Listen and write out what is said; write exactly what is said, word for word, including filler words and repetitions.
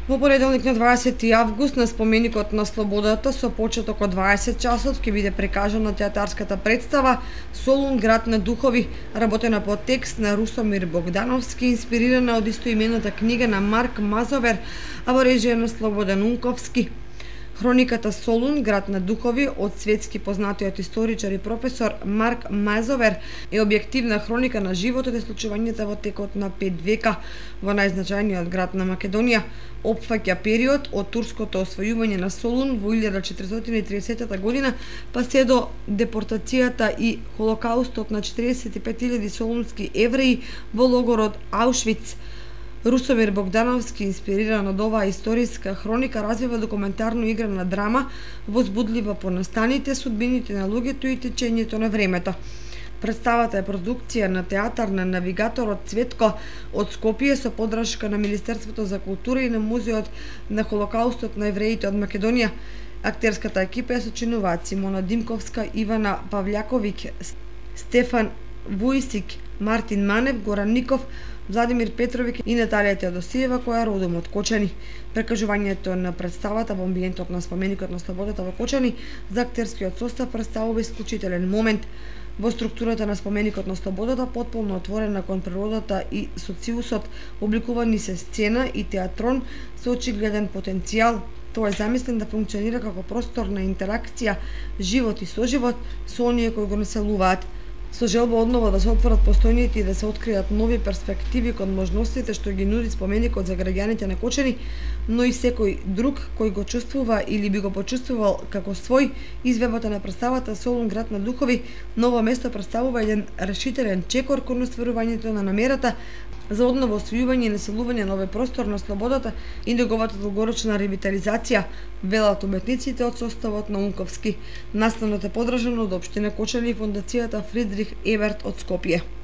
Во понеделник на дваесети август на споменикот на Слободата со почеток од дваесет часот ќе биде прикажана театарската представа Солун град на духови, работена по текст на Русомир Богдановски, инспирирана од истоимената книга на Марк Мазовер, а во режија на Слободан Унковски. Хрониката Солун град на духови од светски познатиот историчар и професор Марк Мазовер е објективна хроника на животот и случувањата во текот на пет века во најзначајниот град на Македонија. Опфаќа период од турското освојување на Солун во илјада четиристотини и тридесета година па се до депортацијата и холокаустот на четиридесет и пет илјади солунски евреи во логорот Аушвиц. Русомир Богдановски, инспириран од оваа историска хроника, развива документарно играна драма, возбудлива по настаните, судбините на луѓето и течењето на времето. Представата е продукција на театар на навигаторот Цветко од Скопје со поддршка на Министерството за култура и на Музеот на холокаустот на евреите од Македонија. Актерската екипа ја сочинуваат Симона Димковска, Ивана Пављаковиќ, Стефан Вујсик, Мартин Манев, Горан Ников, Владимир Петровиќ и Наталија Теодосиева, која е родом од Кочани. Прекажувањето на представата во амбиентот на споменикот на Слободата во Кочани за актерскиот состав представува исклучителен момент. Во структурата на споменикот на Слободата, потполно отворена кон природата и социусот, обликувани се сцена и театрон со очигледен потенцијал. Тој е замислен да функционира како простор на интеракција, живот и соживот со оние кои го населуваат, со желба одново да се отворат постојните и да се откријат нови перспективи кон можностите што ги нуди споменикот за граѓаните на Кочани, но и секој друг кој го чувствува или би го почувствувал како свој. Изведбата на представата Солун град на духови ново место представува еден решителен чекор кон остварувањето на намерата за одново освојување и населување на овој простор на Слободата и неговата долгорочна ревитализација, велат уметниците од составот на Унковски. Настанот е поддржан од општина Кочани и фондацијата Фридрих Еберт од Скопје.